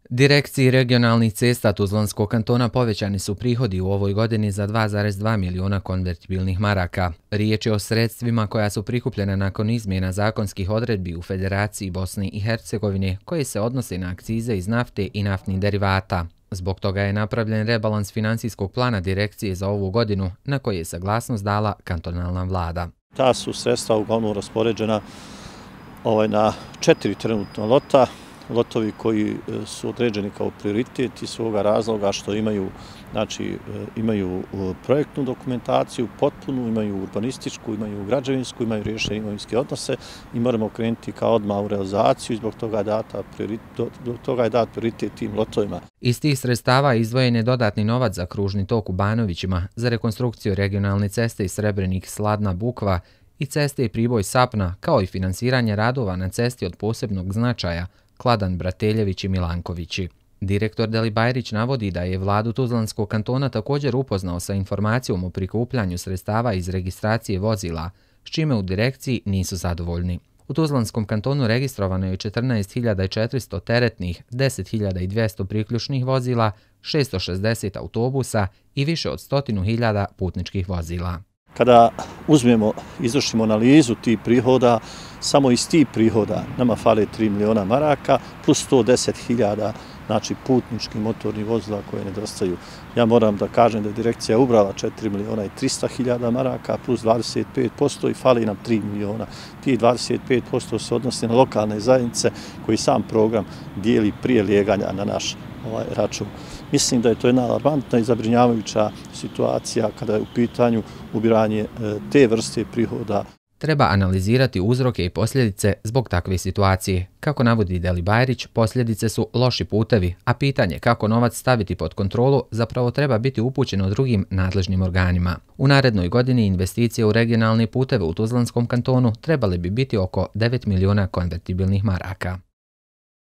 Direkciji regionalnih cesta Tuzlanskog kantona povećani su prihodi u ovoj godini za 2,2 miliona konvertibilnih maraka. Riječ je o sredstvima koja su prikupljena nakon izmjena zakonskih odredbi u Federaciji Bosne i Hercegovine koje se odnose na akcize iz nafte i naftnih derivata. Zbog toga je napravljen rebalans financijskog plana direkcije za ovu godinu na koji je saglasnost dala kantonalna vlada. Ta su sredstva uglavnom raspoređena na 4 trenutna lota. Lotovi koji su određeni kao prioritet iz svoga razloga što imaju projektnu dokumentaciju, potpunu, imaju urbanističku, imaju građevinsku, imaju riješene imovinske odnose i moramo krenuti kao odmah u realizaciju i zbog toga je dat prioritet tim lotovima. Iz tih sredstava izdvojen je dodatni novac za kružni tok u Banovićima, za rekonstrukciju regionalne ceste iz Srebrenik Sladna Bukva i ceste Priboj-Sapna, kao i finansiranje radova na cesti od posebnog značaja Kladan Brateljević i Milankovići. Direktor Delibajrić navodi da je vladu Tuzlanskog kantona također upoznao sa informacijom o prikupljanju sredstava iz registracije vozila, s čime u direkciji nisu zadovoljni. U Tuzlanskom kantonu registrovano je 14.400 teretnih, 10.200 priključnih vozila, 660 autobusa i više od 100.000 putničkih vozila. Kada izvršimo analizu tih prihoda, samo iz tih prihoda nama fale 3 miliona maraka plus 110.000 putničkih motornih vozila koje nedostaju. Ja moram da kažem da je direkcija ubrala 4 miliona i 300.000 maraka plus 25% i fali nam 3 miliona. Tih 25% se odnosi na lokalne zajednice koji sam program dijeli prije lijeganja na naš račun. Mislim da je to jedna alarmantna i zabrinjavajuća situacija kada je u pitanju ubiranje te vrste prihoda. Treba analizirati uzroke i posljedice zbog takve situacije. Kako navodi Delibajrić, posljedice su loši putevi, a pitanje kako novac staviti pod kontrolu zapravo treba biti upućeno drugim nadležnim organima. U narednoj godini investicije u regionalne puteve u Tuzlanskom kantonu trebale bi biti oko 9 miliona konvertibilnih maraka.